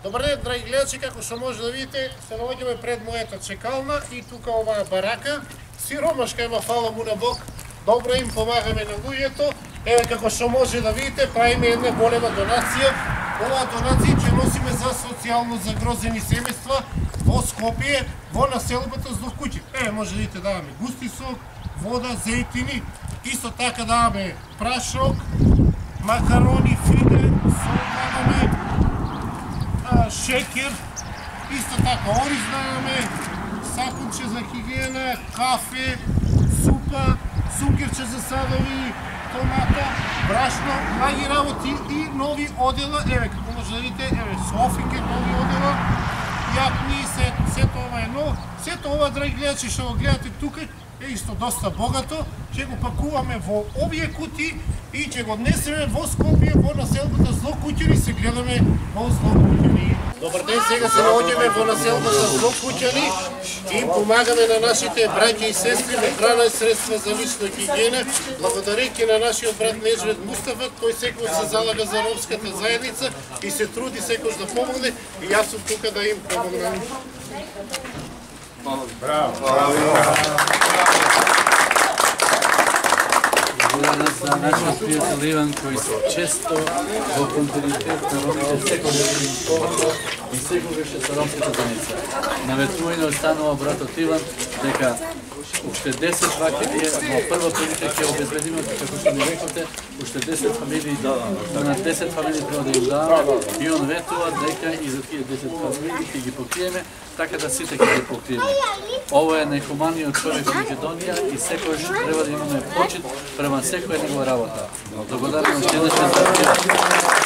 Добар ден, драги гледачи, како што може да видите, се наоѓаме пред мојата чекална и тука оваа барака. Сиромашка има, фала му на Бог, добро им помагаме на луѓето. Еве како што може да видите, правиме една голема донација. Оваа донација ќе носиме за социјално загрозени семејства во Скопје, во населбата Злокуќи. Еве може да видите, даваме густи сок, вода, зејтини, исто така даваме прашок, макарони, фиде, сол даваме, шекер, исто така ориз даваме, сапунче за хигиена, кафе, супа, сукерче за садови, томата, брашно, многи работи и нови одела. Еве како може да видите, еве софике, нови одела, јакни, сето ова е ново. Сето ова, драги гледачи, што го гледате тука, е исто доста богато. Ќе го пакуваме во овие кутии и ќе го однесеме во Скопје, во населбата Злокуќани, се гледаме во Злокуќани. Добар ден, сега се наоѓаме во населбата Злокуќани и помагаме на нашите браќа и сестри на храна и средства за лична хигиена, благодарејќи на нашиот брат Нежвед Мустафа, кој секој се залага за ромската заедница и се труди секој да помогне, и јас сум тука да им помогнам. Благодарам за нашиот пријател Иван, кој често во континуитет на ромите секогаш и секогаш е со ромската заедница. Наветување останува братот Иван дека уште 10 фамилии во прва прилика ќе обезбедиме, како што ми реколте, уште 10 фамилии, на 10 фамилии треба да им даваме, и он ветува дека и за тие 10 фамилии ќе ги покриеме, така да сите ќе ги покриеме. Ова е најхуманиот човек во Македонија и секојаш треба да имаме почит према секоја негова работа. Благодарам уште еднаш за